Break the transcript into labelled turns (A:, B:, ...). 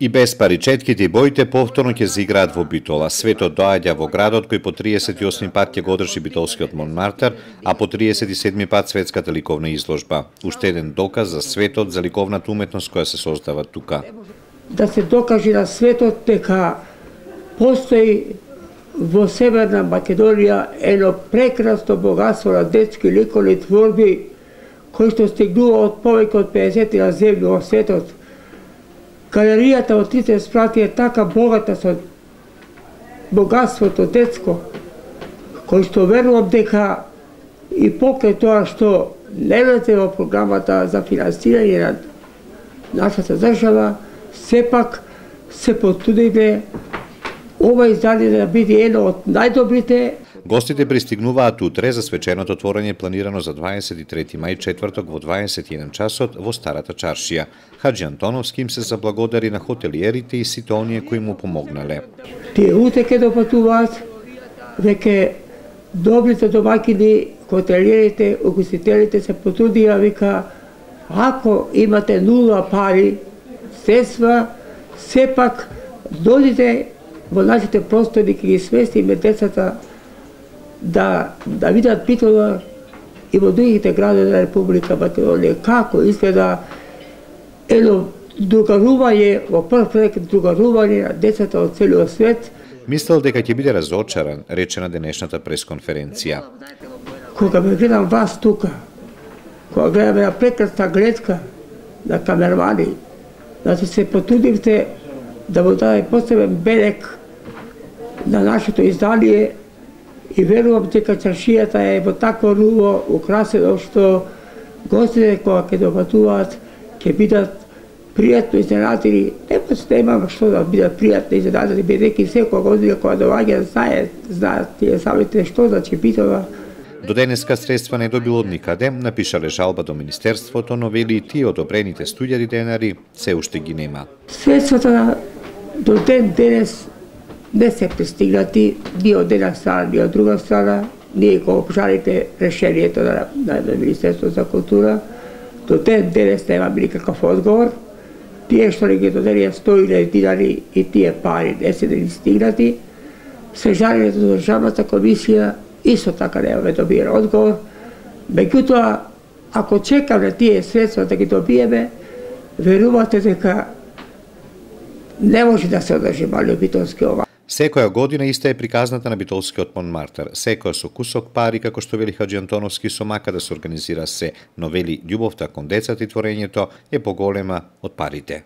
A: И без пари четките и боите повторно ќе се играат во Битола. Светот доаѓа во градот кој по 38 пат ќе го одржи битолскиот Монмартер, а по 37 пат светската ликовна изложба. Уште еден доказ за светот, за ликовната уметност која се создава тука.
B: Да се докаже на светот дека постои во Северна Македонија едно прекрасно богатство на детски ликовни творби кои што стигнува од повеќе од 50 земји во светот. Галеријата од трите спрати е така богата со богатството детско, кој што верувам дека и покрај тоа што не влезе во програмата за финансирање на нашата држава, сепак се потрудиме ова издание да биде едно од најдобрите.
A: Гостите пристигнуваат утре за свеченото отворање планирано за 23 мај четврток во 21 часот во Старата чаршија. Хаџи Антоновски им се заблагодари на хотелиерите и сите оние кои му помогнале.
B: Тие утре ќе допатуваат, веќе добрите домаќини, хотелиерите, угостителите се потрудија, вика, ако имате нула пари, средства, сепак дојдите во нашите простори, ќе ги сместиме децата да видат Битола и во другите градови на Република Македонија, како изгледа едно другарување, во прв ред другарување на децата од целиот свет.
A: Мислел дека ќе биде разочаран, рече на денешната пресконференција.
B: Кога ме гледам вас тука, кога гледам една прекрасна гледка на камермани, значи се потрудивте да му даде посебен белег на нашето издание и верувам дека чаршијата е во такво руво украсено што гостите кога ќе допатуваат ќе бидат пријатно изненадени. Нема што да бидат пријатно изненадени, бидејќи секоја година кога доаѓа знаат тие самите што значи Битола.
A: До денеска средства не добил од никаде, напишале жалба до Министерството, но вели и тие одобрените 100.000 денари се уште ги нема.
B: Средствата до ден денес не се пристигнати ни од една страна, ни од друга страна. Ние го обжалите решението на Министерството за култура. До ден денес немаме никаков одговор. Тие што не ги доделија 100.000 динари и тие пари не се ни стигнати. Се жалењето до Државната комисија исто така немаме добиен одговор. Меѓутоа, ако чекаме тие средства да ги добиеме, верувате дека не може да се одржи малиот битолски ова.
A: Секоја година иста е приказната на битолскиот Монмартер. Секоја со кусок пари, како што вели Хаџи Антоновски, со мака да се организира се, но вели љубовта кон децата и творењето е поголема од парите.